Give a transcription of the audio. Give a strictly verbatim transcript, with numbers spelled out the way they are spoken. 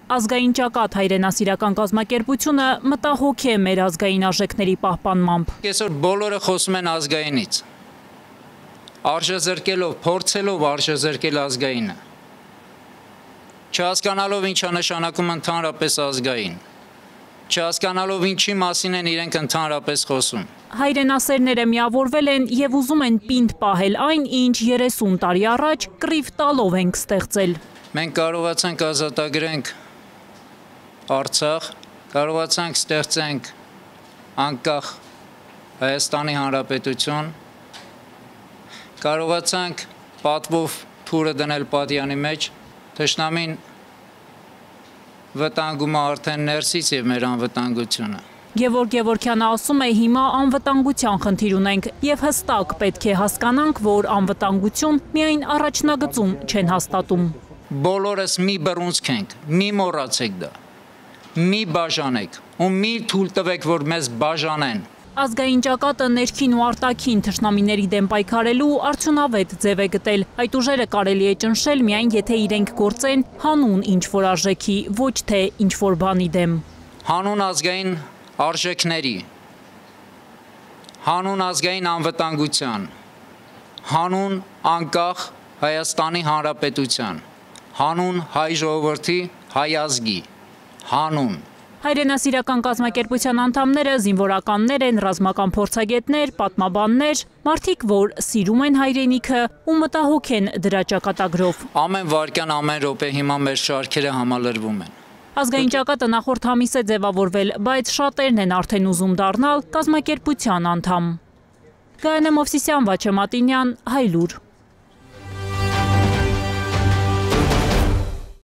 Ազգային ճակատ հայրենասիրական կազմակերպությունը մտահոգ է մեր ազգային արժեքների պահպանմամբ։ Այսօր բոլորը խոսում են ազգայինից, արժեզրկելով, փորձելով արժեզրկել ազգայինը, չհասկանալով ինչ է նշանակում ընդհանրապես ազգային, չհասկանալով ինչի մասին են իրենք ընդհանրապես խոսում։ Հայրենասերները միավորվել են և ուզում են պինդ պահել այն, ինչ երեսուն տարի առաջ կռիվ տալով ենք ստեղծել։ Մենք կարողացանք ազատագրենք Արցախ, կարողացանք ստեղծենք անկախ Հայաստանի Հանրապետություն, կարողացանք պատվով թուրը դնել պատյանի մեջ, թշնամին վտանգում է արդեն ներսից և մեր անվտանգությունը։ Գևորգ Գևորգյանը ասում է հիմա անվտանգության խնդիր ունենք և հստակ պետք է հասկանանք, որ անվտանգություն միայն առաջնագծում չեն հաստատում։ Բոլորս մի բռունցք ենք, մի մոռացեք դա, մի բաժանեք ու մի թույլ տվեք, որ մեզ բաժանեն։ Ազգային ճակատը ներքին ու արտաքին թշնամիների դեմ պայքարելու արդյունավետ ձև է գտել։ Այդ ուժերը կարելի է ճնշել միայն եթե իրենք գործեն հանուն ինչ-որ արժեքի, ոչ թե ինչ-որ բանի դեմ։ Հանուն ազգային արժեքների, հանուն ազգային անվտանգության, հանուն անկախ Հայաստանի Հանրապետության, հանուն հայ ժողովրդի, հայ ազգի, հանուն։ Հայրենասիրական կազմակերպության անդամները զինվորականներ են, ռազմական փորձագետներ, պատմաբաններ, մարդիկ, որ սիրում են հայրենիքը ու մտահոգ են դրա ճակատագրով։ Ամեն վայրկյան, ամեն րոպե հիմա մեր շարքերը համալրվում են։ Ազգային ճակատը նախորդ ամիս է ձևավորվել, բայց շատերն են արդեն ուզում դառնալ կազմակերպության անդամ։ Գայանե Մովսիսյան, Վաչե Մատինյան, Հայլուր։